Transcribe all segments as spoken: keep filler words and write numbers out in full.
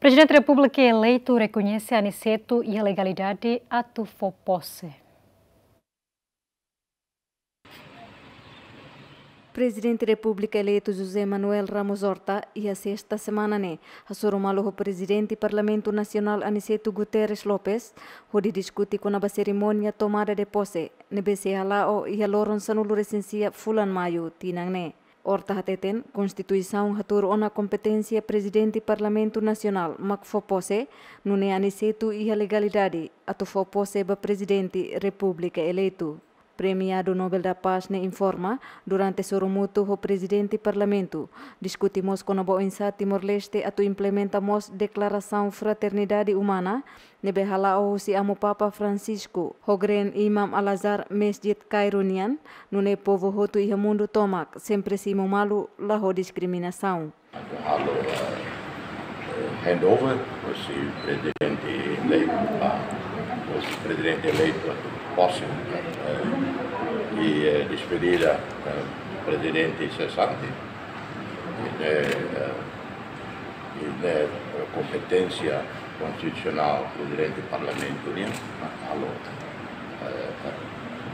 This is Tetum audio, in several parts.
Prezidente Repúblika eleitu rekoñese Aniceto iha legalidade atu fó pose. Prezidente Repúblika eleitu José Manuel Ramos Horta iha sesta semana ne'e hasoru malu ho Prezidente Parlamentu Nasionál Aniceto Guterres Lopes, hodi diskute kona-ba serimónia tomada de pose ne'ebé sei hala'o iha loron sanulu-resin-sia fulan Maiu tinan ne'e. Horta hateten, Konstituisaun hatuur ona kompeténsia Prezidente Parlamentu Nasionál mak fó pose, nune'e Aniceto iha legalidade atu fó pose ba Prezidente Repúblika eleitu. Premiadu Nobel da Paz ne'e informa, durante sorumutu ho Prezidente Parlamentu, diskute mós kona-ba oinsá Timor-Leste atu implementa mós Deklarasaun Fraternidade Umana, ne'ebé hala'o husi Amu Papa Francisco, ho Grand Imam Al-Azhar Masjid Cairo nian, nune'e povu hotu iha mundu tomak sempre simu malu la ho diskriminasaun. Atu halo, eh, eh, handover, husi Prezidente eleitu, ah, husi Prezidente eleitu atu pose, eh, i, eh, despedida, eh, Prezidente sesante. I, eh, eh, i, eh, kompeténsia konstitusionál Prezidente Parlamentu nian, halo, eh,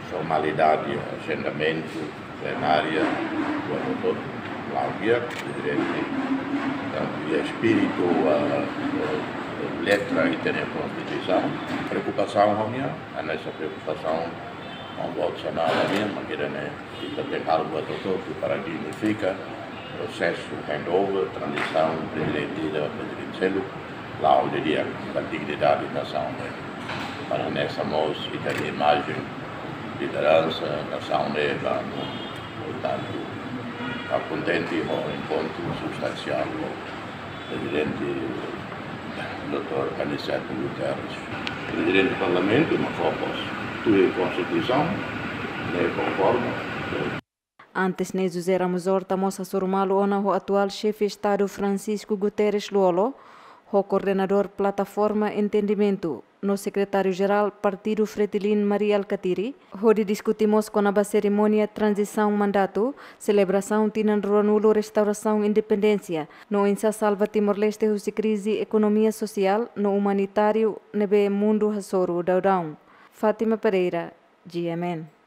formalidade, agendamentu, plenária, kuandu to'o la'o di'ak, Prezidente, tantu iha espíritu, eh, eh, letra ita-nia Konstituisaun. Preokupasaun ha'u-nian, hanesan preokupasaun Ombudsman nian, mak ida-ne'e ita tenke halo buat hotu-hotu para dignifika prosesu handover, tranzisaun Prezidente ida ba Prezidente seluk, la'o didi'ak ba dignidade nasaun ne'e. Para hanesan mós ita-nia imajen lideransa nasaun ne'e ba mundu. Portantu, ha'u kontente ho enkontru substansiál ho Prezidente doutór Aniceto Guterres. Prezidente Parlamentu mak fó pose, tuir Konstituisaun, ne'e konforma. Antes ne'e, José Ramos Horta mós hasoru malu ona ho atuál Xefe Estadu Francisco Guterres Lú-Olo, ho koordenadór Plataforma Entendimentu, no Sekretáriu-Jerál Partidu Fretilin Mari Alkatiri, hodi diskute mós kona-ba serimónia tranzisaun mandatu, selebrasaun tinan ruanulu restaurasaun independénsia, no oinsá salva Timor-Leste husi krize ekonomia sosiál no umanitáriu ne'ebé mundu hasoru daudaun. Fátima Pereira, G M N.